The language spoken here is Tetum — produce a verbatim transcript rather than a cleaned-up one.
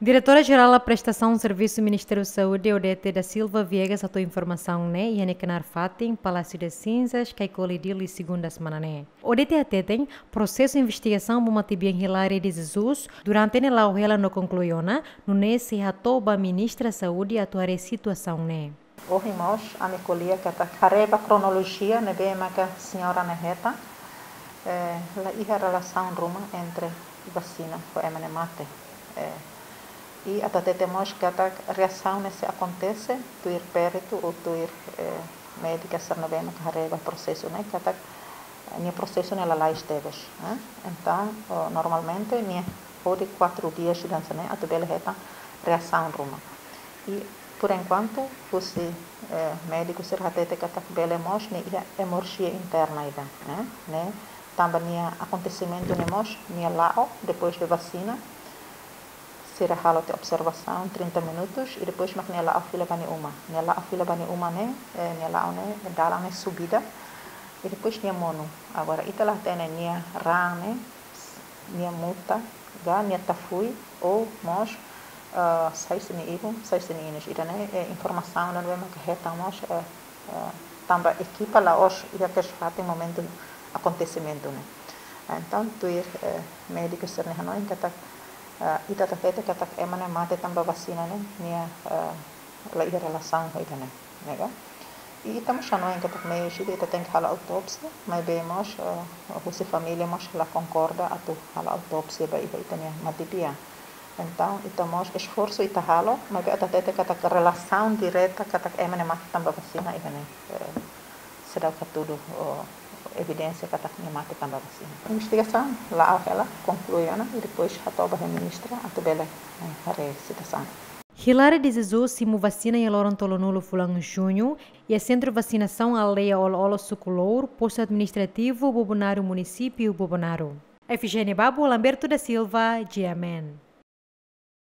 Diretora Jerál Prestasaun Servisu Ministériu Saúde, Odete da Silva Viegas, hato'o informasaun ne'e iha nia knaar fatin Palácio das Cinzas, Caicoli, Dili, segunda semana ne'e. Odete hateten, prosesu investigasaun ba matebian Hilária de Jesus durante ne'e la'o hela no konklui ona, nune'e sei hato'o ba Ministra Saúde atu haree situasaun ne'e. Ohin mós ami ko'alia katak haree ba kronolojia ne'ebé maka señora ne'e hetan, eh, la iha relasaun ruma entre vasina ho ema ne'e mate. Eh, i atu hatete mós katak reasaun ne'e sei akontese tuir peritu ou tuir, eh, médika sira ne'ebé maka haree ba prosesu ne'e katak nia prosesu ne'e lalais tebes, eh. Entaun, oh, normalmente nia hodi quatro dias ida hanesan ne'e atu bele hetan reasaun ruma. I, por enkuantu, husi, eh, médiku sira hatete katak bele mós ne'e iha emorxia interna ida, eh, ne'e tanba nia akontesimentu ne'e mós, nia la'o, depois de vasina, sira halo tiha observasaun trinta minutos, i depois mak nia la'o fila ba nia uma. Nia la'o fila ba nia uma ne'e, eh, nia la'o ne'e, dalan ne'e subida, i depois nia monu. Agora, ita la hatene nia raan ne'e, nia muta, ka nia tafui, ou mós, ah, sai husi nia ibun, sai husi nia inus. Ida-ne'e, eh, informasaun ne'ebé maka hetan mós, eh, eh, tanba ekipa la'ós iha kedas fatin momentu akontesimentu ne'e. Ah, entaun, tuir, eh, médiku sira-nia hanoin katak, eh, ita hatete katak ema ne'e mate tanba vasina ne'e, nia, eh, la iha relasaun ho ida-ne'e, ne'e ka? I ita mós hanoin katak meius ida ita tenke halo autópsia, maibé mós, eh, husi família mós la konkorda atu halo autópsia ba iha ita-nia matebian. Entaun, ita mós esforsu ita halo, maibé atu hatete katak relasaun direta katak ema ne'e mate tanba vasina ida-ne'e, eh, seidauk hatudu, oh, evidénsia katak nia mate tanba vasina. Investigasaun la'o hela, konklui ona, i depois hato'o ba iha ministra atu bele, eh, haree situasaun. Hilária de Jesus simu vasina iha loron tolunulu fulan Juñu, iha Sentru Vasinasaun Aldeia Olo-Olo, Suku Lour, Postu Administrativu Bobonaro, Munisípiu Bobonaro. Efigénia Babu, Lamberto da Silva, G M N.